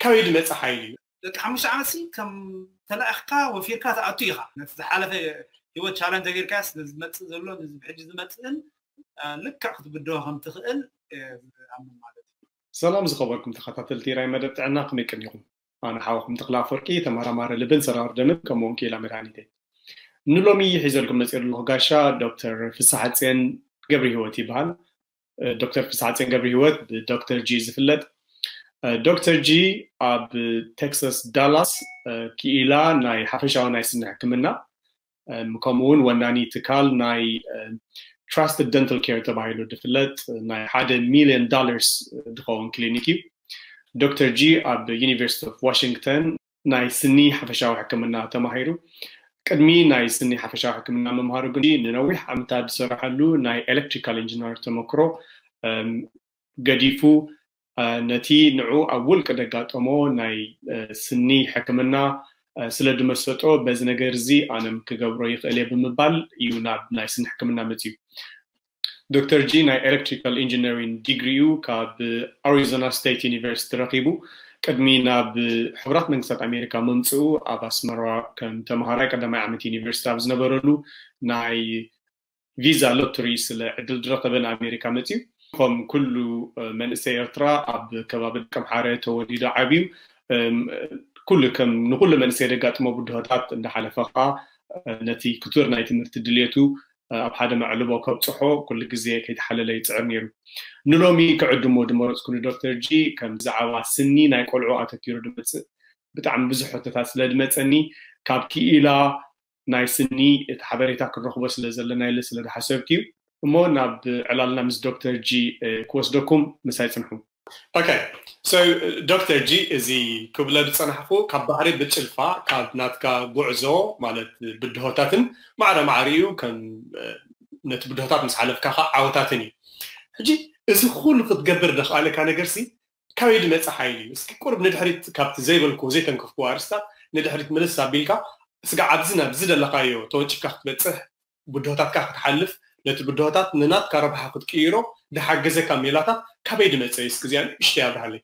ካበይ ዝመጽእ ሓይሊ እዩ? ደቂ ሓሙሽተ ዓመት ሲ ከም ተላእኽካ ወፊርካ ትኣቱ ኢኻ። ነቲ ዝሓለፈ ህይወት ቻለንጅ ተገይርካስ ንዝመጽእ ዘሎ፣ ንዚ ብሕጂ ዝመጽእን፣ እ፣ ልክዕ ክትብድሆ ከም ትኽእል፣ እ፣ ዝኣምን ማለት እዩ። ሰላም ዝኸበርኩም ተኸታተልቲ ራይ መደብ ጥዕና፣ ከመይ ቀኒኹም? ኣነ ሓወኹም ተኽለ ኣፈወርቂ፣ ተመራማሪ ልብን ሰራር ደምን፣ ከምኡ እውን ክኢላ መድሃኒት እየ። ንሎሚ ሒዘልኩም መፂእ ዘለኹ ጋሻ ዶክተር ፍስሓጽዮን ገብረ ህይወት ይበሃል። እ፣ ዶክተር ፍስሓጽዮን ገብረ ህይወት ብዶክተር ጂ ዝፍለጥ። እ፣ ዶክተር ጂ ኣብ ቴክሳስ ዳላስ፣ እ፣ ክኢላ ናይ ሓፈሻዊ ናይ ስኒ ሕክምና፣ እም፣ ከምኡ እውን ወናኒ ትካል ናይ፣ እም፣ ትራስትድ ደንታል ኬር ተባሂሉ ዝፍለጥ ናይ ሓደ ሚልዮን ዶላርስ ዝኸውን ክሊኒክ እዩ። ዶክተር ጂ ኣብ ዩኒቨርሲቲ ኦፍ ዋሽንግተን ናይ ስኒ ሓፈሻዊ ሕክምና ተማሂሩ። ቅድሚ ናይ ስኒ ሓፈሻዊ ሕክምና ምምሃሩ ግን ንነዊሕ ዓመታት ዝሰረሐሉ ናይ ኤሌክትሪካል ኢንጂነር ተመክሮ፣ እም፣ ገዲፉ፣ እ፣ ነቲ ንዑ ኣብ ውልቂ ደጋጠሞ ናይ፣ እ፣ ስኒ ሕክምና፣ እ፣ ስለ ዝመሰጦ፣ በዚ ነገር እዚ ኣነም ክገብሮ ይኽእል እየ ብምባል እዩ ናብ ናይ ስኒ ሕክምና መፅዩ። ዶክተር ጂ ናይ ኤሌክትሪካል ኢንጂነሪንግ ዲግሪኡ ካብ ኣሪዞና ስቴት ዩኒቨርሲቲ ረኺቡ። ቅድሚ ናብ ሕቡራት መንግስታት ኣሜሪካ ምምፅኡ ኣብ ኣስመራ ከም ተምሃራይ ቀዳማይ ዓመት ዩኒቨርሲቲ ኣብ ዝነበረሉ ናይ ቪዛ ሎተሪ ስለ ዕድል ዝረኸበ ንኣሜሪካ መፅዩ። ከም ኩሉ፣ እ፣ መንእሰይ ኤርትራ ኣብ ከባቢ ደቀምሓረ ተወሊዱ ዓብዩ። እም፣ ኩሉ ከም ንኩሉ መንእሰይ ደጋጥሞ ብድሆታት እንዳሓለፈ ኸዓ፣ እ፣ ነቲ ክቱር ናይ ትምህርቲ ድልየቱ፣ እ፣ ኣብ ሓደ መዕልቦ ከብፅሖ ኩሉ ግዜ ከይተሓለለ ይፅዕር ነይሩ። ንሎሚ ክዕድሞ ዝመረፅኩ ንዶክተር ጂ ከም ብዛዕባ ስኒ ናይ ቆልዑ ኣተኪሩ ዝመፅእ ብጣዕሚ ብዙሕ ሕቶታት ስለ ዝመፀኒ ካብ ክኢላ ናይ ስኒ እቲ ሓበሬታ ክንረኽቦ ስለ ዘለና ኢለ ስለ ዝሓሰብኩ እዩ። እሞ ናብ ዕላልና ምስ ዶክተር ጂ፣ እ፣ ክወስደኩም ምሳይ ጽንሑ። ኦኬ፣ so ዶክተር ጂ፣ እዚ ክብለ ዝጸናሕኩ ካብ ባሕሪ ብጭልፋ ካብ ናትካ ጉዕዞ ማለት ብድሆታትን ማዕረ ማዕሪኡ ከም፣ እ፣ ነቲ ብድሆታት ምስ ሓለፍካ ኸዓ ዓወታትን እዩ። ሕጂ እዚ ኩሉ ክትገብር ዘኽኣለካ ነገርሲ ካበይ ዝመጽእ ሓይሊ እዩ? እስኪ ቁሩብ ንድሕሪት ካብቲ ዘይበልኩዎ ዘይተንከፍኩዎ ኣርእስታት ንድሕሪት ምልስ ኣቢልካ ስጋዕ ኣብዚ ናብዚ ዘለኻዮ ተወንጭፍካ ክትበጽሕ ብድሆታትካ ክትሓልፍ ነቲ ብድሆታት ንናትካ ረብሓ ክትቅይሮ ዝሓገዘካ ሜላታት ካበይ ዝመጸ እዩ? እስኪ እዚኣ ንእሽተይ ኣብርሃለይ።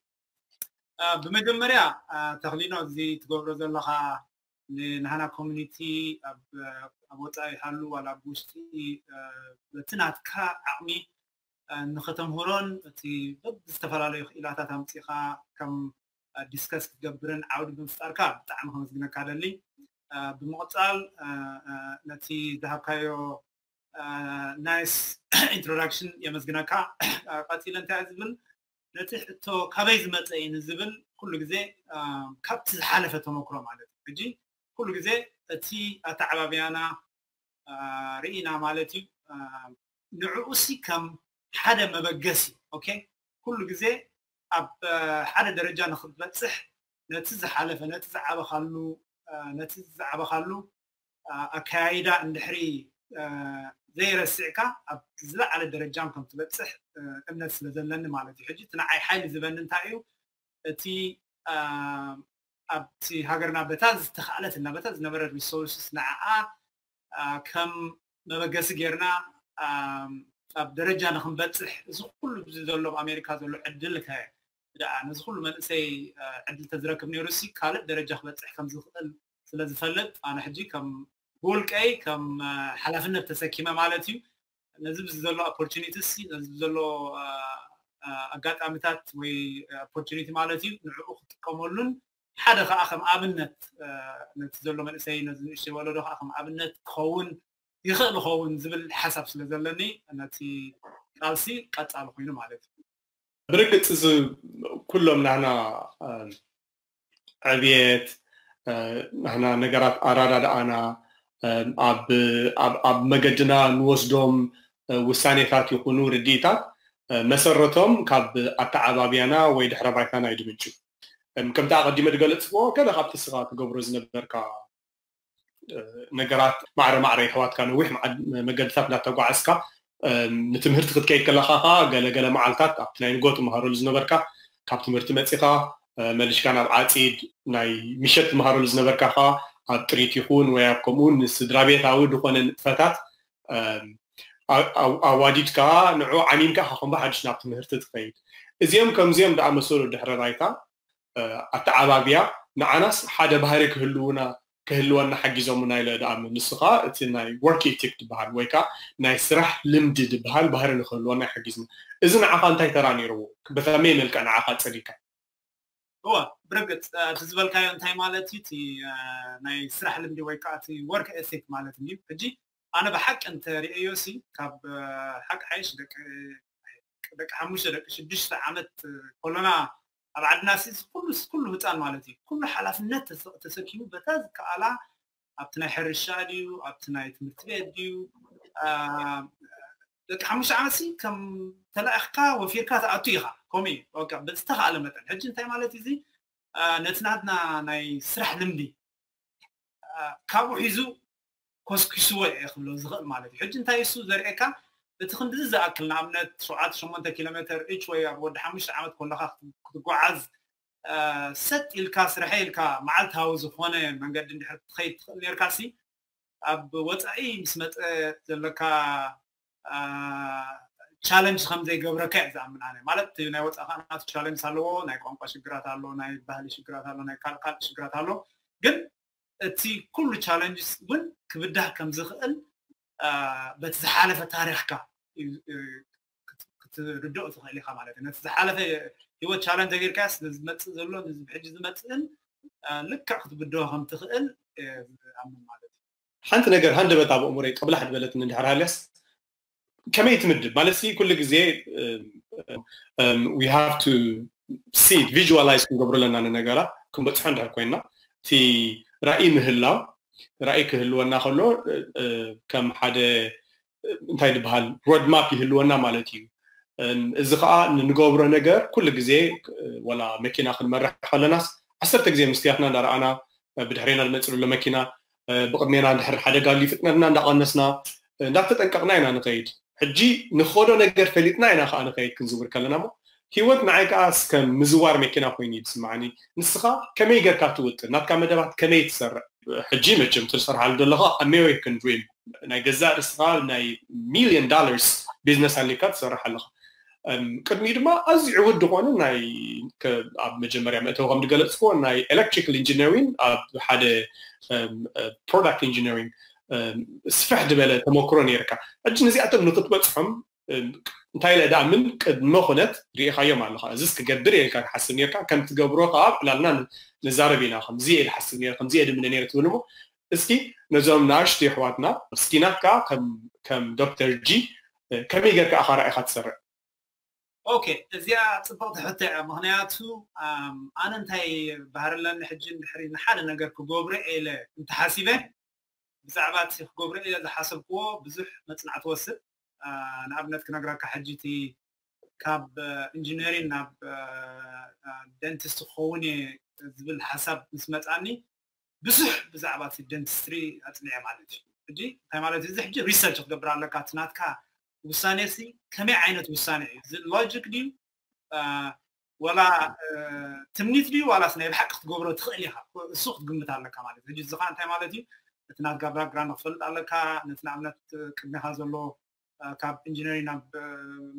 እ፣ ብመጀመርያ፣ እ፣ ተኽሊኖ እዚ ትገብሮ ዘለኻ ንናህና ኮሚኒቲ ኣብ፣ ኣብ ወጻኢ ይሃሉ ዋላ ኣብ ውሽጢ፣ እ፣ በቲ ናትካ ዓቕሚ፣ እ፣ ንኸተምህሮን እቲ በብዝተፈላለዩ ክኢላታት ኣምጺኻ ከም፣ እ፣ ዲስከስ ክትገብርን ዓውዲ ብምፍጣርካ ብጣዕሚ ከመስግነካ ደሊ። እ፣ ብምቕጻል፣ እ፣ እ፣ ነቲ ዝሃብካዮ፣ እ፣ ናይስ ኢንትሮዳክሽን የመስግነካ። እ፣ ቀጺለ እንታይ እየ ዝብል፣ ነቲ ሕቶ ካበይ ዝመጸ እዩ ንዝብል ኩሉ ግዜ፣ እ፣ ካብቲ ዝሓለፈ ተመክሮ ማለት እዩ። ሕጂ ኩሉ ግዜ እቲ ኣተዓባብያና፣ እ፣ ርኢና ማለት እዩ። እ፣ ንዕኡሲ ከም ሓደ መበገሲ፣ ኦኬ፣ ኩሉ ግዜ ኣብ፣ እ፣ ሓደ ደረጃ ንክትበጽሕ ነቲ ዝሓለፈ፣ ነቲ ዝዓበኻሉ፣ እ፣ ነቲ ዝዓበኻሉ፣ እ፣ ኣከያይዳ እንድሕሪ፣ እ፣ ዘይረሲዕካ ኣብ ዝለዓለ ደረጃም ከም ትበጽሕ፣ እ፣ እምነት ስለ ዘለኒ ማለት እዩ። ሕጂ እቲ ንዓይ ሓይሊ ዝህበኒ እንታይ እዩ? እቲ፣ እ፣ ኣብቲ ሃገርና በታ ዝተኻእለትና በታ ዝነበረ ሪሶርስስ ንዓኣ፣ እ፣ ከም መበገሲ ጌርና፣ እ፣ ኣብ ደረጃ ንክንበጽሕ እዚ ኩሉ እዚ ዘሎ ኣብ ኣሜሪካ ዘሎ ዕድል ከ ደኣ ነዚ ኩሉ መንእሰይ፣ እ፣ ዕድል ተዝረክብ ነይሩ ሲ ካልእ ደረጃ ክበጽሕ ከም ዝኽእል ስለ ዝፈልጥ ኣነ ሕጂ ከም ብውልቀይ ከም፣ እ፣ ሓላፍነት ተሰኪመ ማለት እዩ። ነዚ ብዚ ዘሎ ኦፖርቹኒቲ ሲ ነዚ ብዘሎ፣ እ፣ እ፣ ኣጋጣሚታት ወይ ኦፖርቹኒቲ ማለት እዩ ንዕኡ ክጥቀመሉን ሓደ ከዓ ከም ኣብነት፣ እ፣ ነቲ ዘሎ መንእሰይ ነዚ ንእሽተይ ወለዶ ከዓ ከም ኣብነት ክኸውን ይኽእል ይኸውን ዝብል ሓሳብ ስለ ዘለኒ ነቲ ቃልሲ ቀጻሊ ኮይኑ ማለት እዩ። ብርግጽ እዚ ኩሎም ናህና፣ እ፣ ዕብየት፣ እ፣ ናህና ነገራት ኣራዳድኣና፣ እ፣ ኣብ፣ ኣብ፣ ኣብ መገድና ንወስዶም፣ እ፣ ውሳኔታት ይኹኑ ርድኢታት፣ እ፣ መሰረቶም ካብ ኣተዓባብያና ወይ ድሕረ ባይታና እዩ ዝምንጩ። እም፣ ከምቲ ኣቐዲመ ዝገለጽክዎ፣ ገለ ካብቲ ስኻ ትገብሮ ዝነበርካ፣ እ፣ ነገራት ማዕረ ማዕረ የሕዋትካ ነዊሕ መዓ-፣ መገድታት እንዳተጓዓዝካ፣ እም፣ ንትምህርቲ ክትከይድ ከለኻ ኸኣ ገለ ገለ መዓልታት ኣብቲ ናይ ንጎ ትመሃረሉ ዝነበርካ ካብ ትምህርቲ መጺኻ፣ እ፣ መሊሽካ ናብ ዓጺድ ናይ ምሸት ትመሃረሉ ዝነበርካ ኸኣ ኣብ ጥሪት ይኹን ወይ ኣብ ከምኡ ንስድራ ቤታዊ ዝኾነ ንጥፈታት፣ እም፣ ኣ-፣ ኣ-፣ ኣዋዲድካ ንዑ ዓሚምካ ኢኻ ከም ብሓድሽ ናብ ትምህርቲ ትኸይድ። እዚኦም ከምዚኦም ዝኣመሰሉ ድሕረ ባይታ ኣተዓባብያ ንዓናስ ሓደ ባህሪ ክህልውና ክህልወና ሓጊዞምና ኢለ ድኣምን። ንሱ ከዓ እቲ ናይ work ethic ዝበሃል ወይ ከዓ ናይ ስራሕ ልምዲ ዝበሃል ባህሪ ንክህልወና ይሓጊዝና። እዚ ንዓኻ እንታይ ተራ ነይርዎ? በከመይ መልክዕ ንዓኻ ፀሊካ? እወ፣ ብርግፅ እቲ ዝበልካዮ እንታይ ማለት እዩ? እቲ ናይ ስራሕ ልምዲ ወይ ከዓ እቲ work ethic ማለት እዩ። ሕጂ ኣነ ብሓቂ እንተሪእዮ ሲ ካብ ሓቂ ሓይሽ ደቂ ደቂ ሓሙሽተ ደቂ ሽዱሽተ ዓመት ከሎና ኣብ ዓድና ሲ ኩሉ ኩሉ ህፃን ማለት እዩ ኩሉ ሓላፍነት ተሰኪሙ በታ ዝከኣላ ኣብቲ ናይ ሕርሻ ድዩ ኣብቲ ናይ ትምህርቲ ቤት ድዩ ደቂ ሓሙሽተ ዓመት ሲ ከም ተላእኽካ ወፊርካ ትኣቱ ኢኻ። ከምኡ እዩ ዝተኻኣለ መጠን። ሕጂ እንታይ ማለት እዚ ነቲ ናትና ናይ ስራሕ ልምዲ ካብኡ ሒዙ ኮስኪስዎ እየ ክብሎ ዝኽእል ማለት እዩ። ሕጂ እንታይ እሱ ዘርእየካ እቲ ክንድዚ ዝኣክል ንኣብነት ሸውዓተ ሸሞንተ ኪሎ ሜትር እች ወይ ኣብ ወዲ ሓሙሽተ ዓመት ከለካ ክትጓዓዝ ሰጥ ኢልካ ስርሐ ኢልካ መዓልታዊ ዝኾነ መንገዲ እንድሕር ክትኸይድ ትኽእል ነርካ ሲ ኣብ ወፃኢ ምስ መፀ ዘለካ ቻለንጅ ከም ዘይገብረካ እየ ዝኣምን ኣነ። ማለት ናይ ወፃኢ ከዓ ናቱ ቻለንጅ ኣለዎ፣ ናይ ቋንቋ ሽግራት ኣሎ፣ ናይ ባህሊ ሽግራት ኣሎ፣ ናይ ካልእ ካልእ ሽግራት ኣሎ። ግን እቲ ኩሉ ቻለንጅ እውን ክብዳህ ከም ዝኽእል በቲ ዝሓለፈ ታሪኽካ ክትርድኦ ትኽእል ኢኻ ማለት እዩ። ነቲ ዝሓለፈ ህይወት ቻለንጅ ተገይርካስ ንዝመፅእ ዘሎ ንዚ ብሕጂ ዝመፅእን ልክዕ ክትብድሆ ከም ትኽእል ኣምን ማለት እዩ። ሓንቲ ነገር ሃንደበት ኣብ ኣእምሮይ ቅብላሕ ዝበለትኒ እንድሕር ሃልያስ ከመይ ትምድብ ማለት ሲ ኩሉ ግዜ we have to see visualize ክንገብሮ ኣለና ንነገራት ክንበፅሖ እንድሕር ኮይና እቲ ራእይ ምህላው ራእይ ክህልወና ከሎ ከም ሓደ እንታይ ዝበሃል ሮድማፕ ይህልወና ማለት እዩ። እዚ ከዓ ንንገብሮ ነገር ኩሉ ግዜ ወላ መኪና ክንመርሕ ከለናስ ዓሰርተ ግዜ ምስትያትና እንዳረኣና ብድሕሬና ዝመፅእ ዘሎ መኪና ብቅድሜና እንድሕር ሓደጋ ኣልዩ ፍጥነትና እንዳቀነስና እንዳተጠንቀቅና ኢና ንኸይድ። ሕጂ ንኸዶ ነገር ፈሊጥና ኢና ከዓ ንኸይድ ክንዝውር ከለና ሞ ህይወት ንዓይ ከዓ እስከ ምዝዋር መኪና ኮይኑ እዩ ዝስማዓኒ። ንስኻ ከመይ ጌርካ ትውጥን? ናትካ መደባት ከመይ ትሰርዕ? ሕጂ መቸም ትሰርሓሉ ዘለኻ ኣሜሪካን ድሪም ናይ ገዛእ ርእስኻ ናይ ሚሊዮን ዶላርስ ቢዝነስ ኣሊካ ትሰርሕ ኣለኻ። ቅድሚኡ ድማ ኣዝዩ ዕዉት ዝኾነ ናይ ኣብ መጀመርያ መእተዊ ከም ዝገለፅክዎ ናይ ኤሌክትሪካል ኢንጂነሪንግ ኣብ ሓደ ፕሮዳክት ኢንጂነሪንግ ስፍሕ ዝበለ ተመክሮ ነይርካ። ሕጂ ነዚኣቶም ንክትበፅሖም እንታይ ኢለ ደኣ ምን ቅድመ ኩነት ርኢኻዮም ኣለኻ። እዚስ ክገብር እየ ኢልካ ትሓስብ ነርካ፣ ከም ትገብሮ ከኣ ኣብ ዕላልና ንዛረብ ኢና። ከምዚ እየ ዝሓስብ ነይረ፣ ከምዚ እየ ድምነ ነይረ ትብል እሞ እስኪ ነዞም ንኣሽቱ ኣሕዋትና እስኪ ናትካ ከም ዶክተር ጂ ከመይ ጌርካ ኢኻ ራኢኻ ትሰርዕ? ኦኬ፣ እዚኣ ጽብቕቲ ሕቶ እያ። ምኽንያቱ ኣነ እንታይ ባህሪ ኣለኒ ሕጂ እንድሕሪ ንሓደ ነገር ክገብሮ ኢለ እንተሓሲበ ብዛዕባ እቲ ክገብሮ ኢለ ዝሓሰብክዎ ብዙሕ መጽናዕቲ ወስድ። ንኣብነት ክነግረካ ሕጂ እቲ ካብ ኢንጂነሪን ናብ ደንቲስት ክኸውን እየ ዝብል ሓሳብ ምስ መጻኒ ብዙሕ ብዛዕባ እቲ ደንቲስትሪ ኣጽኒዐ ማለት እዩ። ሕጂ እንታይ ማለት እዩ? እዚ ሕጂ ሪሰርች ክትገብር ኣለካ። እቲ ናትካ ውሳኔ ሲ ከመይ ዓይነት ውሳኔ እዩ? እዚ ሎጂክ ድዩ ወላ ትምኒት ድዩ ዋላስ ናይ ብሓቂ ክትገብሮ ትኽእል ኢኻ? እሱ ክትግምት ኣለካ ማለት እዩ። ሕጂ እዚ ከዓ እንታይ ማለት እዩ? እቲ ናትካ ባክግራውንድ ክፈልጥ ኣለካ። ነቲ ንኣብነት ቅድሜኻ ዘሎ ካብ ኢንጂነሪንግ ናብ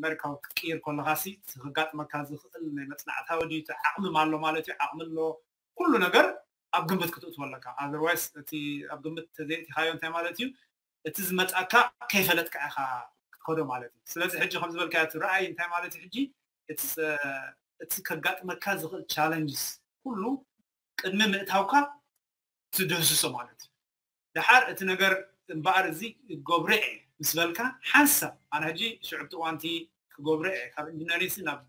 መርካዊ ክትቅይር ከለኻ ሲ ከጋጥመካ ዝኽእል ናይ መጽናዕታዊ ድዩ ዓቕሚ ኣሎ ማለት እዩ። ዓቕሚ ኣሎ ኩሉ ነገር ኣብ ግምት ክትእትዎ ኣለካ። ኣዘርዋይስ እቲ ኣብ ግምት ተዘይእቲኻዮ እንታይ ማለት እዩ? እቲ ዝመጻካ ከይፈለጥካ ኢኻ ክትከዶ ማለት እዩ። ስለዚ ሕጂ ከም ዝበልካዮ እቲ ረኣይ እንታይ ማለት እዩ? ሕጂ እቲ ከጋጥመካ ዝኽእል ቻለንጅስ ኩሉ ቅድሚ ምእታውካ ትድህስሶ ማለት እዩ። ደሓር እቲ ነገር እምበኣር እዚ ክገብሮ እየ ምስ በልካ ሓንሳብ ኣነ ሕጂ ሽዑ ኣብቲ እዋንቲ ክገብሮ እየ ካብ ኢንጂነሪንግ ናብ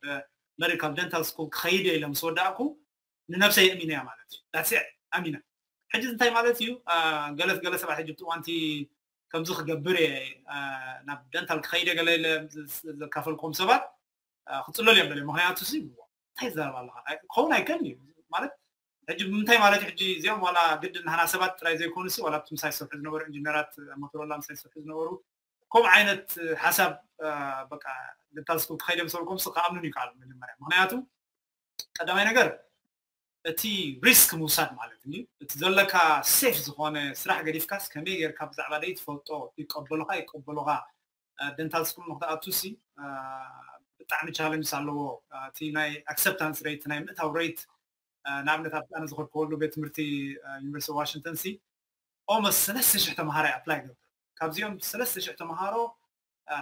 መዲካል ደንታል ስኩል ክኸይድ እየ ኢለ ምስ ወዳእኩ ንነብሰይ የእሚነያ ማለት እዩ። ዳትስ ኣሚና ሕጂ እንታይ ማለት እዩ? ገለ ገለ ሰባት ሕጂ ኣብቲ እዋንቲ ከምዚ ክገብር እየ ናብ ደንታል ክኸይደ ገለ ኢለ ዘካፈልኩም ሰባት ክፅለሉ እዮም ደለ። ምክንያቱ ሲ እንታይ ዝዛረብ ኣለካ ክኸውን ኣይከል እዩ ማለት ሕጂ ብምንታይ ማለት እዩ? ሕጂ እዚኦም ዋላ ግድን ናህና ሰባት ጥራይ ዘይኮኑ ሲ ዋላ ኣብቲ ምሳይ ዝሰርሑ ዝነበሩ ኢንጂነራት ሞቶሮላ ምሳይ ዝሰርሑ ዝነበሩ ከምኡ ዓይነት ሓሳብ በቃ ደንታል ስኩል ክኸይደ ምሰልኩም ሲ ክኣምኑን ይከኣሉ መጀመርያ። ምክንያቱ ቀዳማይ ነገር እቲ ሪስክ ምውሳድ ማለት እዩ። እቲ ዘለካ ሴፍ ዝኾነ ስራሕ ገዲፍካስ ከመይ ጌርካ ብዛዕባ ደይ ትፈልጦ ይቀበሉካ ይቀበሉካ ደንታል ስኩል ንክትኣቱ ሲ ብጣዕሚ ቻለንጅ ኣለዎ። እቲ ናይ ኣክሰፕታንስ ሬት ናይ ምእታው ሬት ንኣብነት ኣብ ኣነ ዝኸድከወሉ ቤት ትምህርቲ ዩኒቨርሲቲ ዋሽንግተን ሲ ኦመስ ሰለስተ ሽሕ ተምሃራይ ኣፕላይ ገብር ካብዚኦም ሰለስተ ሽሕ ተምሃሮ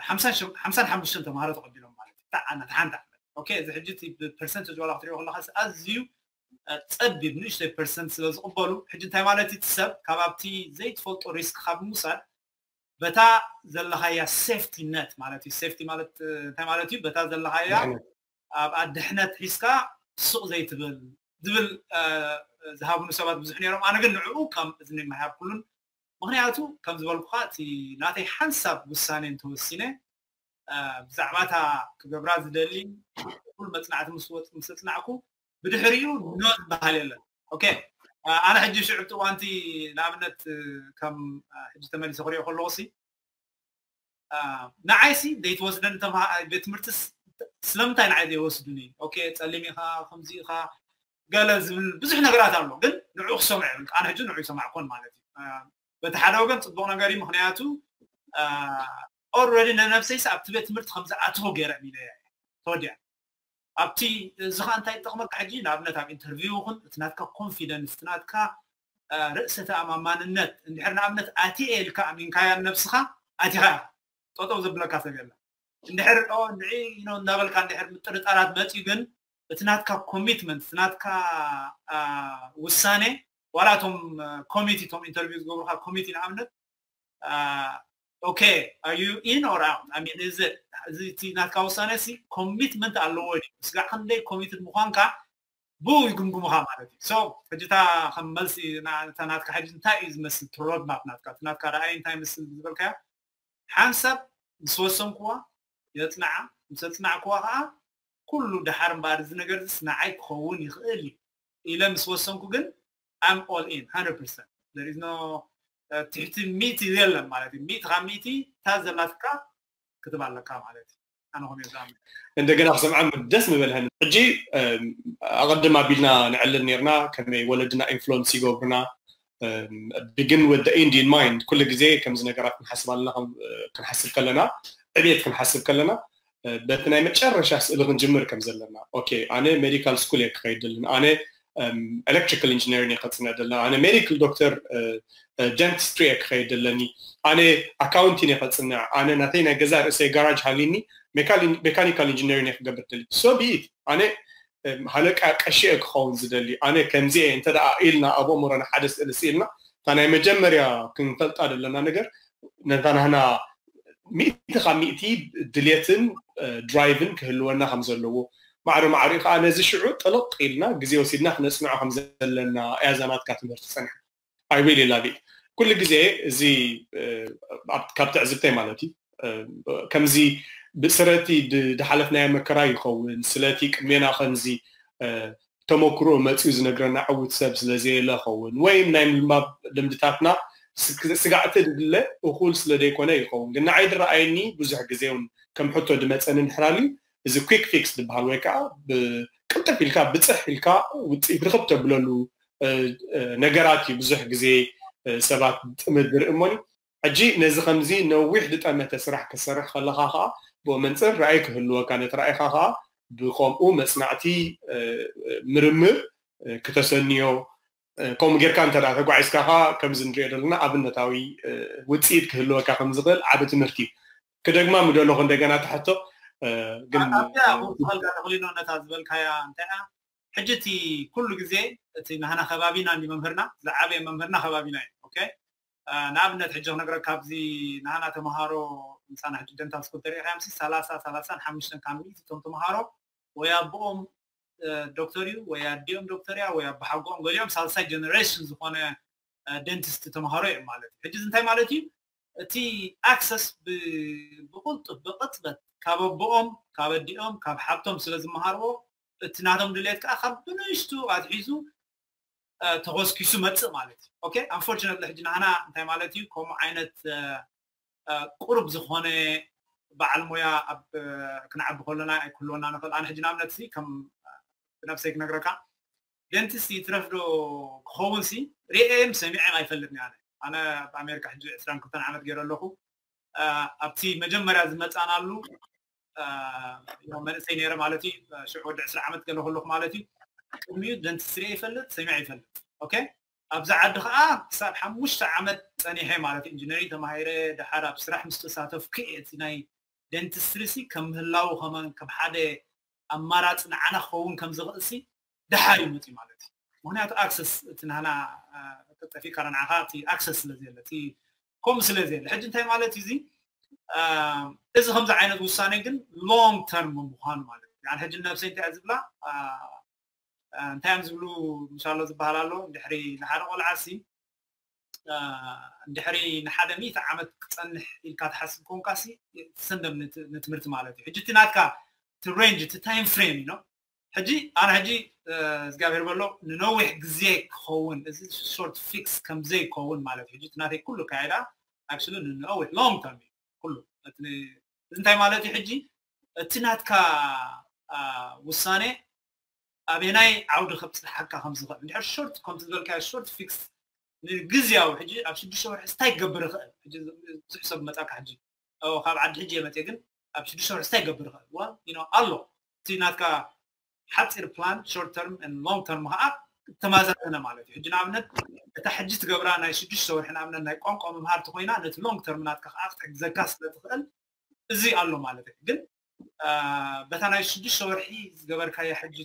ሓምሳን ሓሙሽተን ተምሃሮ ተቐቢሎም ማለት እዩ። ተዓና ተሓንታ ኦኬ። እዚ ሕጂ እቲ ብፐርሰንት ዝዋላ ክትሪኦ ከለካ ኣዝዩ ፀቢብ ንእሽተይ ፐርሰንት ስለ ዝቕበሉ ሕጂ እንታይ ማለት እቲ ሰብ ካብ ኣብቲ ዘይትፈልጦ ሪስክ ካብ ምውሳድ በታ ዘለኻያ ሴፍቲ ነት ማለት እዩ። ሴፍቲ ማለት እንታይ ማለት እዩ? በታ ዘለኻያ ኣብ ኣድሕነት ሒዝካ ሱቕ ዘይትብል ዝብል ዝሃብኑ ሰባት ብዙሕ ነይሮም። ኣነ ግን ንዕኡ ከም እዝኒ ማይሃብኩሉን ምክንያቱ ከም ዝበልኩካ እቲ ናተይ ሓንሳብ ውሳኔ እንተወሲነ ብዛዕባ እታ ክገብራ ዝደሊ ኩሉ መፅናዕቲ ምስ ወፅ ምስ ኣፅናዕኩ ብድሕሪኡ ኖ ዝበሃል የለን። ኦኬ ኣነ ሕጂ ሽዑ እቲ እዋንቲ ንኣብነት ከም ሕጂ ተመሊሰ ክሪኦ ከለኹ ሲ ንዓይሲ ዘይትወስደኒ ቤት ትምህርቲ ስለምንታይ ንዓይ ዘይወስዱኒ? ኦኬ ፀሊም ኢኻ ከምዚ ኢኻ ገለ ዝብል ብዙሕ ነገራት ኣሎ። ግን ንዑ ክሰምዑ የብል ኣነ ሕጂ ንዑ ይሰማዕኮን ማለት እዩ። በቲ ሓደ ወገን ፅቡቅ ነገር እዩ። ምክንያቱ ኦረዲ ንነብሰይስ ኣብቲ ቤት ትምህርቲ ከምዝኣትዎ ገይረ ሚለ ተወዲያ ኣብቲ እዚ ከዓ እንታይ ይጠቕመካ ሕጂ ንኣብነት ኣብ ኢንተርቪው ይኹን እቲ ናትካ ኮንፊደንስ እቲ ናትካ ርእሰ ተኣማማንነት እንድሕር ንኣብነት ኣትየ ኢልካ ኣሚንካያ ነብስኻ ኣቲኻ ኢኻ ጠጠው ዘብለካ ሰብ የለ እንድሕር ንዒ እንዳበልካ እንድሕር ምጥርጣራት መፅዩ ግን እቲ ናትካ ኮሚትመንት እቲ ናትካ ውሳኔ ዋላ እቶም ኮሚቲ እቶም ኢንተርቪው ዝገብሩካ ኮሚቲ ንኣብነት okay are you in or out I mean is it እዚ እቲ ናትካ ውሳነ ሲ ኮሚትመንት ኣለዎ ድዩ ስጋዕ ክንደይ ኮሚትድ ምኳንካ ብኡ ይግምግሙኻ ማለት እዩ። So ሕጂ እታ ከም መልሲ እታ ናትካ ሕጂ እንታይ እዩ ዝመስል እቲ ሮድማፕ ናትካ እቲ ናትካ ረኣይ እንታይ ይመስል ዝበልካዮ ሓንሳብ ምስ ወሰንክዋ የፅንዓ ምስ ኣፅናዕክዋ ከዓ ኩሉ ደሓር እምበኣር እዚ ነገር ዚስ ንዓይ ክኸውን ይኽእል እዩ ኢለ ምስ ወሰንኩ ግን I'm all in hundred percent there is no ትሕቲ ሚእቲ የለን ማለት እዩ። ሚእቲ ካብ ሚእቲ እታ ዘላትካ ክትብ ኣለካ ማለት እዩ። ኣነ ከምኡ ዝኣምን። እንደገና ክሰምዓ ደስ ምበልሀኒ። ሕጂ ኣቐድም ኣቢልና ንዕልል ነርና ከመይ ወለድና ኢንፍሉንስ ይገብሩና begin with the end in mind ኩሉ ግዜ ከምዚ ነገራት ክንሓስብ ኣለና ክንሓስብ ከለና ዕቤት ክንሓስብ ከለና በቲ ናይ መጨረሻ ስእሊ ክንጅምር ከም ዘለና okay ኣነ ሜዲካል ስኩል እየ ክኸይድ ደለኒ ኣነ ኤሌክትሪካል ኢንጂነሪንግ እየ ከፅንዕ ደለና ኣነ ሜዲካል ዶክተር ደንቲስትሪ እየ ክኸይድ ደለኒ ኣነ ኣካውንቲን እየ ከፅንዕ ኣነ ናተይ ናይ ገዛ ርእሰይ ጋራጅ ሃልዩኒ ሜካኒካል ኢንጂነሪንግ እየ ክገብር ደሊ so be it ኣነ ሃለቃ ቀሺ እየ ክኸውን ዝደሊ ኣነ ከምዚ እየ እንተ ኢልና ኣብ ኣእምሮና ሓደ ስእሊ ስኢልና እታ ናይ መጀመርያ ክንፈልጣ ዘለና ነገር ነታ ናህና ሚእቲ ካብ ሚእቲ ድሌትን ድራይቭን ክህልወና ከም ዘለዎ ማዕረ ማዕሪኡ ከዓ ነዚ ሽዑ ጥልቕ ኢልና ግዜ ወሲድና ክነፅንዖ ከም ዘለና እያ እዛ ናትካ ትምህርቲ ፀኒሓ I really love it ኩሉ ግዜ እዚ ካብ ትዕዝብተይ ማለት እዩ ከምዚ ስለቲ ዝሓለፍናዮ መከራ ይኸውን ስለቲ ቅድሜና ከምዚ ተመክሮ መፅኡ ዝነግረና ዕውት ሰብ ስለዘየለ ኸውን ወይም ናይ ምልማብ ልምድታትና ስጋዕቲ ድድለ እኹል ስለ ዘይኮነ ይኸውን ግን ንዓይ ድረኣየኒ ብዙሕ ግዜ እውን ከም ሕቶ ድመፀኒ እንድሕር ኣልዩ እዚ quick fix ዝበሃል ወይ ከዓ ቅልጥፍ ኢልካ ብፅሕ ኢልካ ውፅኢት ርክብ ተብለሉ ነገራት እዩ ብዙሕ ግዜ ሰባት ጥምር ዝርኢ እሞኒ ሕጂ ነዚ ከምዚ ነዊሕ ዝጠመተ ስራሕ ክትሰርሕ ከለኻ ከዓ ብኡ መንፅር ራእይ ክህልወካ ነቲ ራእይካ ከዓ ብከምኡ መፅናዕቲ ምርምር ክተሰንዮ ከምኡ ጌርካ እንተ ተጓዒዝካ ከዓ ከምዚ ንሪኦ ዘለና ኣብነታዊ ውፅኢት ክህልወካ ከም ዝኽእል ዓቢ ትምህርቲ እዩ ክደግማ ምደለኹ እንደገና ትሕቶ ግን ኣብዚኣ ተኽሊኖ ነታ ዝበልካያ እንታይ ሕጂ እቲ ኩሉ ግዜ እቲ ናህና ከባቢና እንዲ መምህርና ዝዓበየ መምህርና ከባቢና እዩ okay ንኣብነት ሕጂ ክነግረካ ኣብዚ ናህና ተምሃሮ ምሳና ሕጂ ደንታል ስኩል ተሪኢኻዮም ሲ ሰላሳ ሰላሳን ሓሙሽተን ካብ ሚእቲ እቶም ተምሃሮ ወይ ኣቦኦም ዶክተር እዩ ወይ ኣዲኦም ዶክተር እያ ወይ ኣቦሓጎኦም ገሊኦም ሳልሳይ ጀነሬሽን ዝኾነ ደንቲስት ተምሃሮ እዮም ማለት እዩ ሕጂ እንታይ ማለት እዩ እቲ ኣክሰስ ብቁልጡፍ ብቅፅበት ካብ ኣቦኦም ካብ ኣዲኦም ካብ ሓብቶም ስለ ዝመሃርዎ እቲ ናቶም ድሌት ከዓ ካብ ብንእሽቱ ኣትሒዙ ተኾስኪሱ መፅእ ማለት እዩ okay unfortunately ሕጂ ናህና እንታይ ማለት እዩ ከምኡ ዓይነት ቁሩብ ዝኾነ በዓል ሞያ ኣብ ክንዓቢ ከሎና ኣይክህልወና ንኽእል ኣነ ሕጂ ንኣብነት ሲ ከም ብነብሰይ ክነግረካ ደንቲስት ይትረፍ ዶ ክኸውን ሲ ርእየም ሰሚዐም ኣይፈልጥን ኣነ ኣነ ኣብ ኣሜሪካ ሕጂ ዕስራን ክልተን ዓመት ገይረ ኣለኹ ኣብቲ መጀመርያ ዝመፃናሉ መንእሰይ ነይረ ማለት እዩ ሽዑ ወዲ ዕስራ ዓመት ገለ ከለኹ ማለት እዩ ቅድሚኡ ደንትስትሪ ይፈልጥ ሰሚዐ ይፈልጥ። ኦኬ፣ ኣብዚ ዓዲ ከዓ ክሳብ ሓሙሽተ ዓመት ፀኒሐ ማለት እዩ። ኢንጂነሪንግ ተማሂረ ድሓር ኣብ ስራሕ ምስ ተሳተፍኩ እየ እቲ ናይ ደንትስትሪ ሲ ከም ምህላው ከመን ከም ሓደ ኣማራፂ ንዓና ክኸውን ከም ዝኽእል ሲ ድሓር እዩ መፅዩ ማለት እዩ። ምክንያቱ ኣክሰስ እቲ ናህና ጠፊእካ ንዓኻ እቲ ኣክሰስ ስለ ዘለ እቲ ከምኡ ስለ ዘለ ሕጂ እንታይ ማለት እዩ እዚ እዚ ከምዚ ዓይነት ውሳነ ግን ሎንግ ተርም ምኳኑ ማለት እዩ። ሕጂ ነብሰይ እንታይ ዝብላ እንታይ እዮም ዝብሉ ምሻሎ ዝበሃል ኣሎ ድሕሪ ንሓደ ቆልዓ ሲ ድሕሪ ንሓደ ሚእቲ ዓመት ክፀንሕ ኢልካ ትሓስብ ኮንካ ሲ ትሰንደም ንትምህርቲ ማለት እዩ። ሕጂ እቲ ናትካ እቲ ሬንጅ እቲ ታይም ፍሬም እዩ። ሕጂ ኣነ ሕጂ እግዚኣብሔር በሎ ንነዊሕ ግዜ ክኸውን እዚ ሾርት ፊክስ ከምዘይከውን ማለት እዩ። ሕጂ እቲ ናተይ ኩሉ ካይዳ ኣክቹሊ ንነዊሕ ሎንግ ተርም እዩ ኩሉ። እዚ እንታይ ማለት እዩ? ሕጂ እቲ ናትካ ውሳኔ ኣበናይ ዓውዲ ከብፅሓካ ከም ዝኽእል እንድሕር ሾርት ከምቲ ዝበልካዮ ሾርት ፊክስ ንግዝያዊ ሕጂ ኣብ ሽዱሽተ ወርሒ እንታይ ክገብር ይኽእል? ሕጂ ብዙሕ ሰብ መፃካ ሕጂ ካብ ዓዲ ሕጂ የመፅእ ግን ኣብ ሽዱሽተ ወርሒ እንታይ ክገብር ይኽእል ኣሎ። እቲ ናትካ ሓፂር ፕላን ሾርት ተርም ሎንግ ተርም ከዓ ተማዛዘነ ማለት እዩ። ሕጂ ንኣብነት እታ ሕጂ ትገብራ ናይ ሽዱሽተ ወርሒ ንኣብነት ናይ ቋንቋ መምሃርቲ ኮይና ነቲ ሎንግ ተርም ናትካ ከዓ ክትሕግዘካ ስለ ትኽእል እዚ ኣሎ ማለት እዩ። ግን በታ ናይ ሽዱሽተ ወርሒ ዝገበርካዮ ሕጂ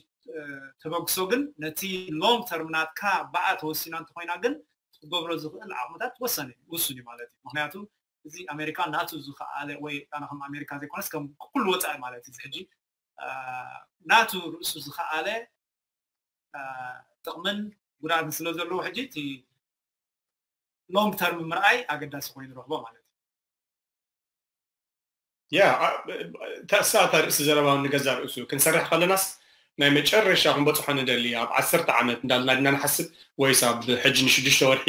ተበግሶ ግን ነቲ ሎንግ ተርም ናትካ ብኣ ተወሲና እንተኮይና ግን ክትገብሮ ዝኽእል ዓቕምታት ወሰነ ውሱን እዩ ማለት እዩ። ምክንያቱ እዚ ኣሜሪካ ናቱ ዝኸኣለ ወይ ኣነ ከም ኣሜሪካ ዘይኮነስ ከም ኩሉ ወፃኢ ማለት እዩ። ሕጂ ናቱ ርእሱ ዝኸኣለ ጥቕምን ጉድኣትን ስለ ዘለዎ ሕጂ እቲ ሎንግ ተርም ምርኣይ ኣገዳሲ ኮይኑ ንረኽቦ ማለት እዩ። ያ ተሳታ ርእሲ ዘረባ ንገዛ ርእሱ ክንሰርሕ ከለናስ ናይ መጨረሻ ክንበፅሖ ንደሊ ኣብ ዓሰርተ ዓመት እንዳልና ድና ንሓስብ ወይስ ኣብ ሕጂ ንሽዱሽተ ወርሒ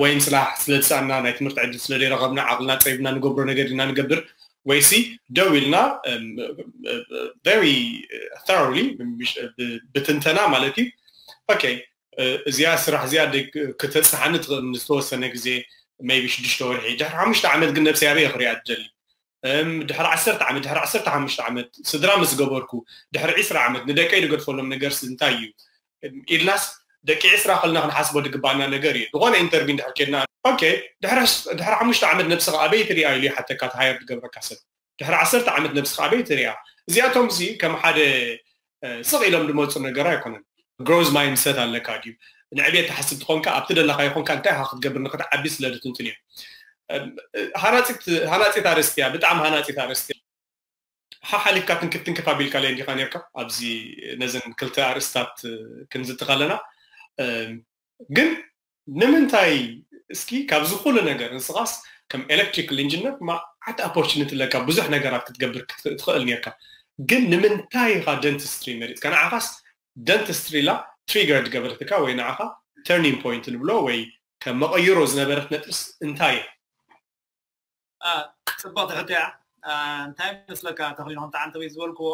ወይም ስራሕ ስለ ዝሰኣና ናይ ትምህርቲ ዕድል ስለ ዘይረኸብና ዓቕልና ፀቢብና ንገብሮ ነገር ድና ንገብር ወይሲ ደው ኢልና very thoroughly ብትንተና ማለት እዩ okay እዚኣ ስራሕ እዚኣ ክተፅናሓኒ ትኽእል ንዝተወሰነ ግዜ maybe ሽዱሽተ ወርሒ ድሕሪ ሓሙሽተ ዓመት ግን ነብሰይ ኣበይ ክሪኣ ትደሊ ድሕሪ ዓሰርተ ዓመት ድሕሪ ዓሰርተ ሓሙሽተ ዓመት ስድራ ምስ ገበርኩ ድሕሪ ዕስራ ዓመት ንደቀይ ዝገድፈሎም ነገርሲ እንታይ እዩ ኢልናስ ደቂ ዕስራ ከልና ክንሓስቦ ዝግባኣና ነገር እዩ። ዝኾነ ኢንተርቪው እንድሕር ኬድና okay ድሕሪ ሓሙሽተ ዓመት ነብስኻ ኣበይ ትሪኣ ኢሉ ይሓተካ እቲ ሃየር ዝገብረካ ሰብ ድሕሪ ዓሰርተ ዓመት ነብስኻ ኣበይ ትሪኣ? እዚኣቶም እዚ ከም ሓደ ስቕ ኢሎም ዝመፁ ነገር ኣይኮነን። ግሮዝ ማይንድሰት ኣለካ ድዩ? ንዕቤት ትሓስብ ትኾንካ ኣብቲ ደለካ ይኾንካ እንታይ ኢኻ ክትገብር ንክትዓቢ ስለ ዝትንትን እዮም። ሃናፂት ኣርእስቲ እያ፣ ብጣዕሚ ሃናፂት ኣርእስቲ እያ። ሓሓሊፍካ ትንክፍ ትንክፍ ኣቢልካ ለይ እንዲኻ ነርካ ኣብዚ ነዘን ክልተ ኣርእስታት ክንዝቲ ከለና ግን ንምንታይ እስኪ ካብዚ ኩሉ ነገር ንስኻስ ከም ኤሌክትሪካል ኢንጂነር መዓት ኦፖርቹኒቲ ኣለካ ብዙሕ ነገራት ክትገብር ትኽእል ነርካ ግን ንምንታይ ኢኻ ደንትስትሪ መሪፅካ ንዓኻስ ደንትስትሪ ላ ትሪገር ዝገበረትካ ወይ ንዓኻ ተርኒንግ ፖይንት ንብሎ ወይ ከም መቐይሮ ዝነበረት ነጥብስ እንታይ እያ? ፅብቕቲ ሕቶ እያ። እንታይ መስለካ ተኽሊኖ ከምቲ ዓንተበይ ዝበልክዎ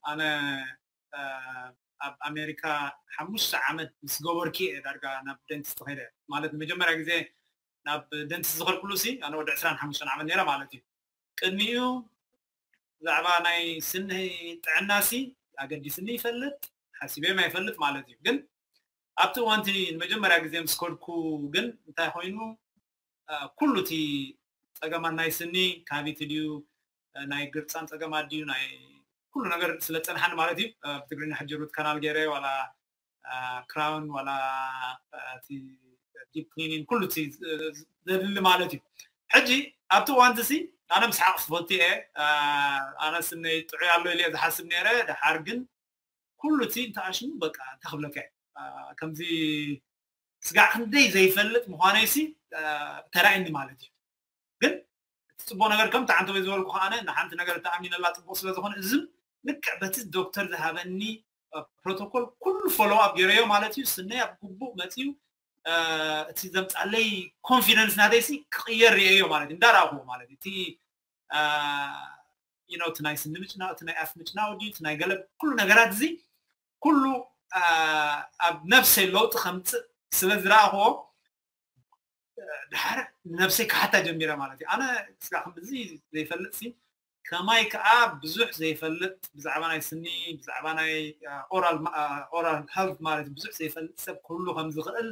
ኣነ ኣብ ኣሜሪካ ሓሙሽተ ዓመት ምስ ገበርኪ እየ ዳርጋ ናብ ደንቲስት ከይደ ማለት ንመጀመርያ ግዜ ናብ ደንቲስት ዝኸድኩሉ ሲ ኣነ ወዲ ዕስራን ሓሙሽተን ዓመት ነይረ ማለት እዩ። ቅድሚኡ ብዛዕባ ናይ ስኒ ጥዕና ሲ ኣገዲስኒ ይፈልጥ ሓሲበዮም ኣይፈልጥ ማለት እዩ። ግን ኣብቲ እዋንቲ ንመጀመርያ ግዜ ምስ ከድኩ ግን እንታይ ኮይኑ ኩሉ እቲ ፀገማት ናይ ስኒ ካቪቲ ድዩ ናይ ግርፃን ፀገማት ድዩ ናይ ኩሉ ነገር ስለ ፀንሓኒ ማለት እዩ። ብትግርኛ ሕጂ ሩት ካናል ገይረ ዋላ ክራውን ዋላ ዲፕ ክሊኒን ኩሉ እቲ ዘድሊ ማለት እዩ። ሕጂ ኣብቲ እዋንቲ ሲ ኣነ ምስሓቕ ዝፈቱ እየ። ኣነ ስነይ ጥዑይ ኣሎ ኢለ ዝሓስብ ነይረ። ድሓር ግን ኩሉ እቲ እንተኣሽሙ በቃ እንታይ ክብለካ ከምዚ ስጋዕ ክንደይ ዘይፈልጥ ምዃነይ ሲ ተራእየኒ ማለት እዩ። ግን እቲ ፅቡቅ ነገር ከምቲ ዓንተ ወይ ዝበልኩ ከዓነ ንሓንቲ ነገር ተኣሚነላ ፅቡቅ ስለ ዝኾነ እዝም ልክዕ በቲ ዶክተር ዝሃበኒ ፕሮቶኮል ኩሉ ፎሎው ኣፕ ገይረዮ ማለት እዩ። ስነይ ኣብ ግቡእ መፅዩ እቲ ዘምፃለይ ኮንፊደንስ ናተይ ሲ ክቅየር ርእየዮ ማለት እዩ። እንዳረኣኹዎ ማለት እዩ። እቲ you know እቲ ናይ ስኒ ምጭናው እቲ ናይ ኣፍ ምጭናው ድዩ እቲ ናይ ገለ ኩሉ ነገራት እዚ ኩሉ ኣብ ነብሰይ ለውጢ ከምፅእ ስለ ዝረኣኽዎ ድሓር ንነብሰይ ክሓታ ጀሚረ ማለት እዩ። ኣነ ስጋ ከምዚ ዘይፈልጥ ሲ ከማይ ከዓ ብዙሕ ዘይፈልጥ ብዛዕባ ናይ ስኒ ብዛዕባ ናይ ኦራል ሄልት ማለት ብዙሕ ዘይፈልጥ ሰብ ክህሉ ከም ዝኽእል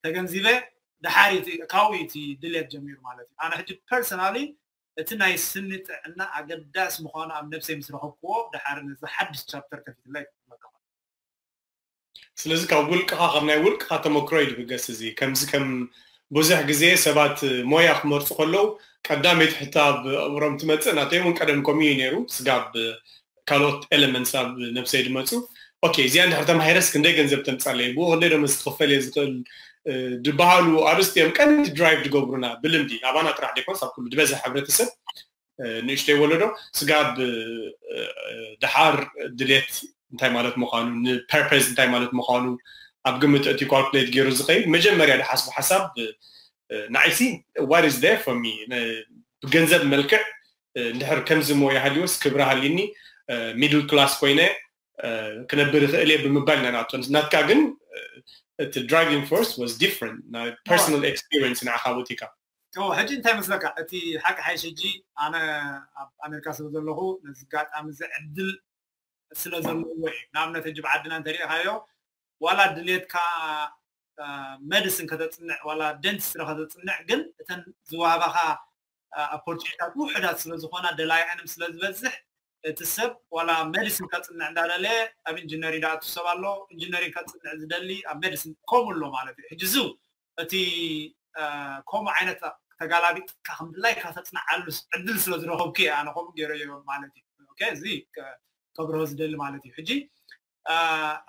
ተገንዚበ ድሓር ካብኡ እቲ ድልየት ጀሚሩ ማለት እዩ። ኣነ ሕጂ ፐርሰናሊ እቲ ናይ ስኒ ጥዕና ኣገዳሲ ምዃኑ ኣብ ነብሰይ ምስ ረኸብክዎ ድሓር ነዚ ሓድሽ ቻፕተር ከፊትለይ ክብለካ። ስለዚ ካብ ውልቅኻ ካብ ናይ ውልቅኻ ተመክሮ እዩ ዝብገስ። እዚ ከምዚ ከም ብዙሕ ግዜ ሰባት ሞያ ክመርፁ ከለዉ ቀዳመይቲ ሕቶ ኣብ ኣእምሮም ትመፅእ ናተይ እውን ቀደም ከምኡ እዩ ነይሩ። ስጋብ ካልኦት ኤለመንትስ ኣብ ነብሰይ ዝመፁ ኦኬ እዚኣ እንድሕር ተማሂረስ ክንደይ ገንዘብ ተምፃለይ ብኡ ክንደይ ደመወዝ ክኽፈል እየ ዝኽእል ዝበሃሉ ኣርስቲ እዮም ቀንዲ ድራይቭ ዝገብሩና ብልምዲ ኣባና ጥራሕ ደይኮንስ ኣብ ኩሉ ዝበዝሕ ሕብረተሰብ ንእሽተይ ወለዶ ስጋብ ድሓር ድሌት እንታይ ማለት ምዃኑ ንፐርፐዝ እንታይ ማለት ምዃኑ ኣብ ግምት እቲ ካልኩሌት ገይሩ ዝኸይድ መጀመርያ ዝሓስቡ ሓሳብ ንዓይሲ what is there for me ብገንዘብ መልክዕ እንድሕር ከምዚ ሞ ይሃልዮስ ክብሪ ሃሊኒ ሚድል ክላስ ኮይነ ክነብር ይኽእል እየ ብምባል ኢና ንኣቶ ናትካ ግን እቲ driving force was different ናይ personal experience ንዓኻ ቦቲካ ሕጂ እንታይ መስለካ እቲ ሓቂ ሓይሽ ሕጂ ኣነ ኣብ ኣሜሪካ ስለ ዘለኹ ነዚ ጋጣሚ እዚ ዕድል ስለ ዘለዎ እዩ ንኣብነት ሕጂ ብዓድና እንተሪኢኻዮ ዋላ ድሌትካ መድስን ከተፅንዕ ዋላ ደንቲስትሪ ከተፅንዕ ግን እተን ዝዋሃባኻ ኦፖርቹኒታት ውሕዳት ስለ ዝኾና ደላይዐንም ስለ ዝበዝሕ እቲ ሰብ ዋላ ሜዲሲን ከፅንዕ እንዳደለ ኣብ ኢንጂነሪንግ ዝኣቱ ሰብ ኣሎ ኢንጂነሪንግ ከፅንዕ ዝደሊ ኣብ ሜዲሲን ከምኡ ኣሎ ማለት እዩ ሕጂ እዚ እቲ ከምኡ ዓይነት ተጋላቢጥካ ከም ድላይካ ተፅንዓሉ ዕድል ስለ ዝረኸብኩ እየ ኣነ ከምኡ ገይረዮ ማለት እዩ እዚ ከብርሆ ዝደሊ ማለት እዩ ሕጂ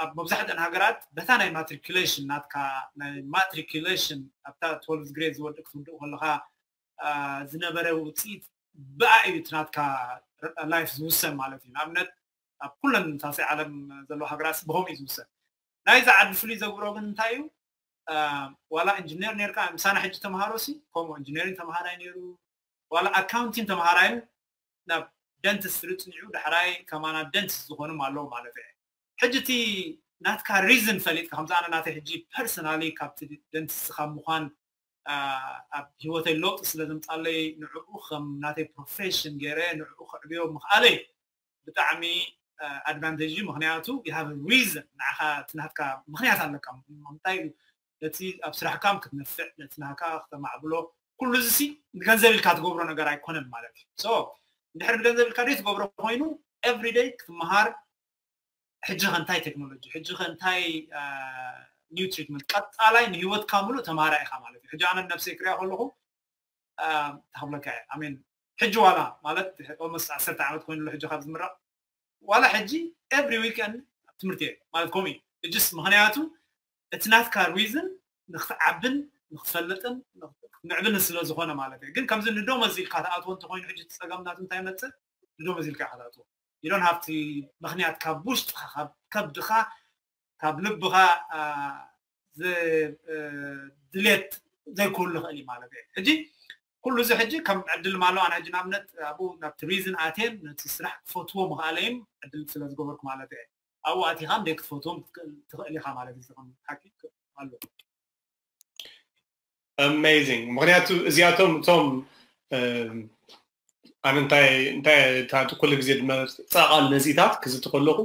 ኣብ መብዛሕትአን ሃገራት በታ ናይ ማትሪኩሌሽን ናትካ ናይ ማትሪኩሌሽን ኣብታ ትወልቭ ግሬድ ዝወድእ ክትውድእ ከለካ ዝነበረ ውፅኢት ብኣ እዩ እቲ ናትካ ላይፍ ዝውሰን ማለት እዩ ንኣብነት ኣብ ኩለን ሳሰይ ዓለም ዘለዎ ሃገራት ብከምኡ እዩ ዝውሰን ናይዚ ዓዲ ፍሉይ ዘግብሮ ግን እንታይ እዩ ዋላ ኢንጂነር ነርካ ምሳና ሕጂ ተምሃሮ ሲ ከምኡ ኢንጂነሪንግ ተምሃራይ ነይሩ ዋላ ኣካውንቲንግ ተምሃራይን ናብ ደንትስት ርፅኒዑ ዳሕራይ ከማና ደንትስት ዝኾኑ ኣለዉ ማለት እዩ ሕጂ እቲ ናትካ ሪዝን ፈሊጥካ ከምዚ ኣነ ናተይ ሕጂ ፐርሰናሊ ካብቲ ደንትስት ካብ ምዃን ኣብ ህይወተይ ለውጢ ስለ ዘምፃለይ ንዕኡ ከም ናተይ ፕሮፌሽን ገይረ ንዕኡ ክዕብዮ ምኽኣለይ ብጣዕሚ ኣድቫንቴጅ እዩ ምክንያቱ you have reason ንዓኻ እቲ ናትካ ምክንያት ኣለካ ምንታይ ነቲ ኣብ ስራሕካም ክትነፍዕ ነቲ ናካ ክተማዕብሎ ኩሉ እዚ ንገንዘብ ኢልካ ትገብሮ ነገር ኣይኮነን ማለት እዩ so እንድሕር ንገንዘብ ኢልካ ደይ ትገብሮ ኮይኑ everyday ክትመሃር ሕጂ ከ እንታይ ቴክኖሎጂ ሕጂ ከ እንታይ new treatment ቀፃላይ ንሂወትካ ምሉእ ተማሃራይ ኢኻ ማለት እዩ ሕጂ ኣነ ነብሰይ ክሪኣ ከለኹ ተኽብለካ እየ ኣሜን ሕጂ ዋላ ማለት ኦልሞስት ዓሰርተ ዓመት ኮይኑ ኣሎ ሕጂ ካብ ዝምረቕ ዋላ ሕጂ every weekend ኣብ ትምህርቲ እየ ማለት ከምኡ እዩ ሕጂስ ምክንያቱ እቲ ናትካ ሪዝን ንክትዓብን ንክትፈልጥን ንዕብን ስለ ዝኾነ ማለት እዩ ግን ከምዚ ንደሞዝ ኢልካ ትኣትዎ እንተኮይኑ ሕጂ ጸገም ናቱ እንታይ መጽእ ንደሞዝ ኢልካ ኢኻ ትኣትዎ you don't have to ምክንያት ካብ ውሽጥኻ ካብ ከብድኻ ካብ ልብኻ ድሌት ዘይክህሉ ይኽእል እዩ ማለት እዩ ሕጂ ኩሉ እዚ ሕጂ ከም ዕድል ማሎ ኣነ ሕጂ ንኣብነት ኣብኡ ናብቲ ሪዝን ኣትየን ነቲ ስራሕ ክፈትዎ ምኽኣለይም ዕድል ስለ ዝገበርኩ ማለት እየ ኣብኡ ኣቲኻ እንደ ክትፈትዎም ትኽእል ኢኻ ማለት እዩ ከም ሓቂ ኣሎ amazing ምክንያቱ እዚኣቶም እቶም ኣነ እንታይ እንታይ ኩሉ ግዜ ዝመፃቃል ነዚታት ክዝቲ ከለኹ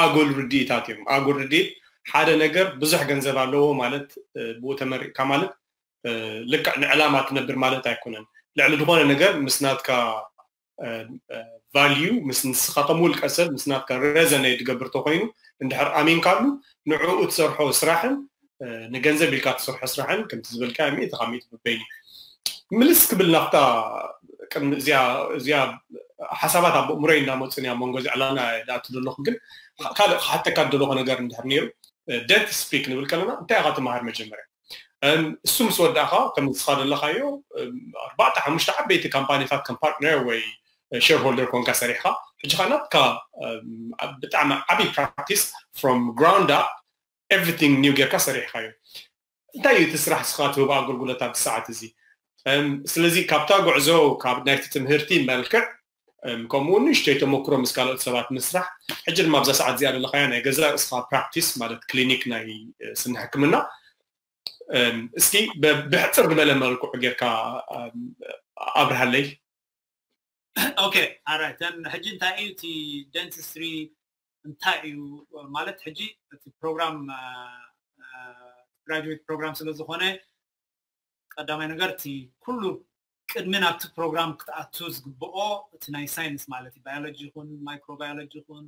ኣጉል ርድኢታት እዮም ኣጉል ርድኢት ሓደ ነገር ብዙሕ ገንዘብ ኣለዎ ማለት ብኡ ተመሪቕካ ማለት ልክዕ ንዕላማ ትነብር ማለት ኣይኮነን ልዕሊ ዝኾነ ነገር ምስ ናትካ ቫልዩ ምስ ንስኻ ከም ውልቀ ሰብ ምስ ናትካ ረዘነ ዝገብር ተኮይኑ እንድሕር ኣሚንካሉ ንዕኡ ትሰርሖ ስራሕን ንገንዘብ ኢልካ ትሰርሖ ስራሕን ከምቲ ዝበልካ ሚእቲ ካብ ሚእቲ በበይኑ ምልስ ክብል ናብታ ቅድሚ እዚኣ እዚኣ ሓሳባት ኣብ ኣእምሮይ እናመፁን ኣብ መንጎ እዚ ዕላና ዝኣቱ ዘለኹ ግን ካልእ ክሓተካ ዘለኹ ነገር እንድሕር ነይሩ ደንት ስፒክ ንብል ከለና እንታይ ኢኻ ትመሃር መጀመርያ እሱ ምስ ወዳእኻ ከም ንስኻ ዘለኻዮ ኣርባዕተ ሓሙሽተ ዓበይቲ ካምፓኒታት ከም ፓርትነር ወይ ሸርሆልደር ኮንካ ሰሪሕኻ ሕጂ ኸ ናትካ ብጣዕሚ ዓብዪ ፕራክቲስ from ground up everything new ጌርካ ሰሪሕኻዮ እንታይ እዩ እቲ ስራሕ ስኻ ትህቦ ኣገልግሎት ኣብዚ ሰዓት እዚ ስለዚ ካብታ ጉዕዞ ካብ ናይቲ ትምህርቲ መልክዕ ከምኡ ንእሽተይ ተመክሮ ምስ ካልኦት ሰባት ምስራሕ ሕጂ ድማ ኣብዛ ሰዓት እዚኣ ዘለኻያ ናይ ገዛ ርእስኻ ፕራክቲስ ማለት ክሊኒክ ናይ ስኒ ሕክምና እስኪ ብሕፅር ዝበለ መልክዑ ጌርካ ኣብርሃለይ okay, all right, then ሕጂ እንታይ እዩ እቲ dentistry እንታይ እዩ ማለት? ሕጂ እቲ ፕሮግራም graduate program ስለ ዝኾነ ቀዳማይ ነገር እቲ ኩሉ ቅድሚ ናብቲ ፕሮግራም ክትኣቱ ዝግብኦ እቲ ናይ ሳይንስ ማለት እዩ። ባዮሎጂ ይኹን ማይክሮባዮሎጂ ይኹን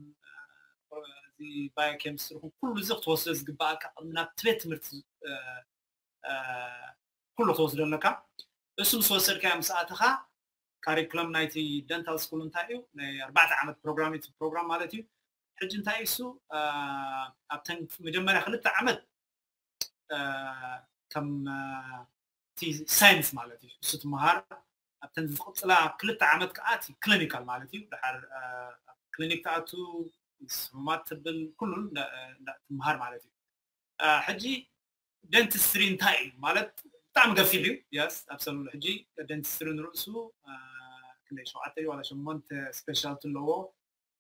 እዚ ባዮኬሚስትሪ ይኹን ኩሉ እዚ ክትወስዶ ዝግብኣካ ቅድሚ ናብቲ ቤት ትምህርቲ ኩሉ ክትወስዶ ኣለካ። እሱ ምስ ወሰድካዮ ምስ ኣተኻ ካሪክለም ናይቲ ደንታል ስኩል እንታይ እዩ? ናይ ኣርባዕተ ዓመት ፕሮግራም እዩ ፕሮግራም ማለት እዩ። ሕጂ እንታይ እዩ እሱ ኣብተን መጀመርያ ክልተ ዓመት ከም እቲ ሳይንስ ማለት እዩ እሱ ትመሃር። ኣብተን ዝቕፅላ ክልተ ዓመት ከዓ እቲ ክሊኒካል ማለት እዩ። ድሓር ክሊኒክ ትኣቱ፣ ምስ ሕሙማት ትብል፣ ኩሉ ትመሃር ማለት እዩ። ሕጂ ደንቲስትሪ እንታይ እዩ ማለት ብጣዕሚ ገፊሕ እዩ። የስ ኣብሰሉ ሕጂ ደንቲስትሪ ንርእሱ ክንደይ ሸውዓተ ዋላ ሸሞንተ ስፔሻልቲ ኣለዎ።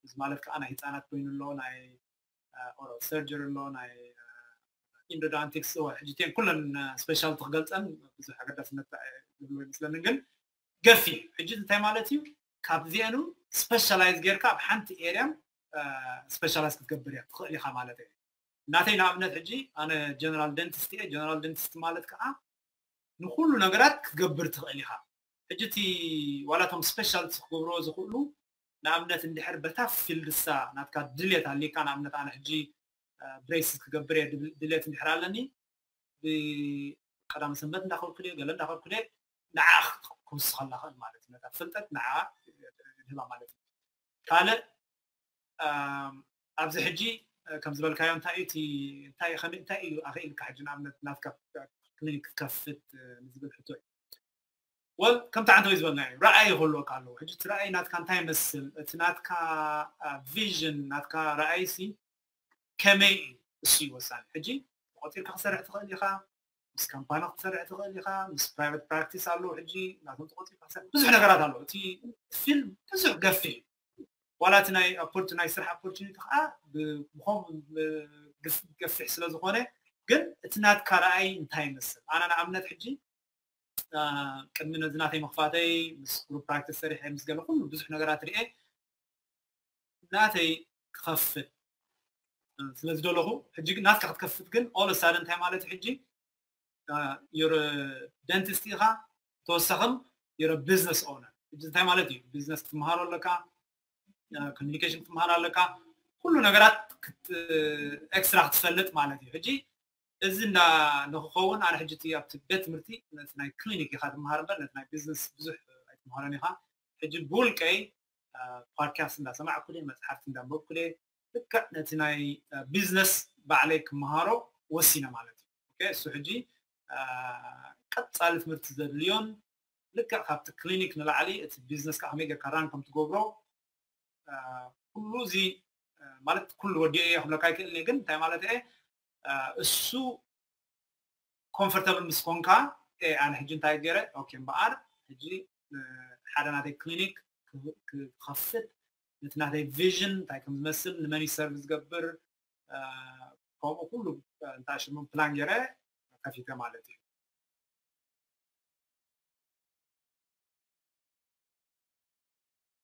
እዚ ማለት ከዓ ናይ ህፃናት ኮይኑ ኣሎ፣ ናይ ኦራል ሰርጀሪ ኣሎ፣ ናይ ኢንዶዳንቲክስ። ሕጂ ቴን ኩለን ስፔሻልቲ ክገልፀን ብዙሕ ኣገዳስነት ዝብሎ ይመስለኒ፣ ግን ገፊሕ ሕጂ እንታይ ማለት እዩ? ካብዚአኑ ስፔሻላይዝ ጌርካ ኣብ ሓንቲ ኤርያን ስፔሻላይዝ ክትገብር እያ ትኽእል ኢኻ ማለት እዩ። ናተይ ንኣብነት ሕጂ ኣነ ጀነራል ደንቲስት እየ። ጀነራል ደንቲስት ማለት ከዓ ንኩሉ ነገራት ክትገብር ትኽእል ኢኻ። ሕጂ እቲ ዋላቶም ስፔሻልቲ ክገብርዎ ዝኽእሉ ንኣብነት እንድሕር በታ ፊልድሳ ናትካ ድልየት ኣሊካ፣ ንኣብነት ኣነ ሕጂ ብሬስስ ክገብር እየ ድልየት እንድሕር ኣለኒ፣ ብቀዳመ ሰንበት እንዳኸድኩ ድየ ገለ እንዳኸድኩ ድየ ንዓ ክውስኸላ ኽእል ማለት እዩ። ነታ ፍልጠት ንዓ ድህባ ማለት እዩ። ካልእ ኣብዚ ሕጂ ከም ዝበልካዮ እንታይ እዩ እቲ እንታይ እዩ ከመይ እንታይ እዩ ኣኽኢልካ ሕጂ ንኣብነት ናትካ ክሊኒክ ክትከፍት ንዝብል ሕቶ እዩ። ወል ከምቲ ዓንተወይ ዝበልና እዩ፣ ረኣይ ይክህልወካ ኣለዎ። ሕጂ እቲ ረኣይ ናትካ እንታይ ይመስል? እቲ ናትካ ቪዥን ናትካ ረኣይ ሲ ከመይ እዩ? እሱ እዩ ወሳኒ። ሕጂ ተቆፂርካ ክሰርሕ ትኽእል ኢኻ፣ ምስ ካምፓኒ ክትሰርሕ ትኽእል ኢኻ፣ ምስ ፕራይቨት ፕራክቲስ ኣለዉ። ሕጂ ናቶም ተቆፂርካ ክሰርሕ ብዙሕ ነገራት ኣለዉ። እቲ ፊልድ ብዙሕ ገፊሕ እዩ። ዋላ እቲ ናይ ናይ ስራሕ ኦፖርቹኒቲ ከዓ ብኸምኡ ገፊሕ ስለ ዝኾነ፣ ግን እቲ ናትካ ረኣይ እንታይ ይመስል? ኣነ ንኣብነት ሕጂ ቅድሚ ነዚ ናተይ ምኽፋተይ ምስ ግሩፕ ፕራክቲስ ሰሪሐ ምስ ገለ ኩሉ ብዙሕ ነገራት ርኤ ናተይ ክኸፍት ስለ ዝደለኹ፣ ሕጂ ግን ናትካ ክትከፍት ግን ኦል ሳደ እንታይ ማለት እዩ? ሕጂ ዩር ደንቲስት ኢኻ፣ ተወሳኽም ዩር ቢዝነስ ኦነር። ሕጂ እንታይ ማለት እዩ? ቢዝነስ ክትመሃሮ ኣለካ፣ ኮሚኒኬሽን ክትመሃር ኣለካ፣ ኩሉ ነገራት ኤክስትራ ክትፈልጥ ማለት እዩ። ሕጂ እዚ እንዳ ንክኸውን ኣነ ሕጂ ኣብቲ ቤት ትምህርቲ ነቲ ናይ ክሊኒክ ኢኻ ትመሃር እምበር ነቲ ናይ ቢዝነስ ብዙሕ ኣይትመሃሮን ኢኻ። ሕጂ ብውልቀይ ፖድካስት እንዳሰማዕኩ ድየ፣ መፅሓፍቲ እንዳንበብኩ ድየ፣ ልክዕ ነቲ ናይ ቢዝነስ ባዕለይ ክመሃሮ ወሲነ ማለት እዩ። እሱ ሕጂ ቀፃሊ ትምህርቲ ዘድልዮን ልክዕ ካብቲ ክሊኒክ ንላዕሊ እቲ ቢዝነስ ከዓ ከመይ ጌርካ ራን ከም ትገብሮ ኩሉ እዚ ማለት ኩሉ ወዲኦ እየ ክብለካ ኣይክእልን እየ፣ ግን እንታይ ማለት እየ እሱ ኮምፎርተብል ምስ ኮንካ ኣነ ሕጂ እንታይ ገይረ ኦኬ እምበኣር ሕጂ ሓደ ናተይ ክሊኒክ ክኸፍት ነቲ ናተይ ቪዥን እንታይ ከም ዝመስል ንመን ሰርቭ ዝገብር ከምኡ ኩሉ እንታይ ሽሙ ፕላን ገይረ ከፊተ ማለት እዩ።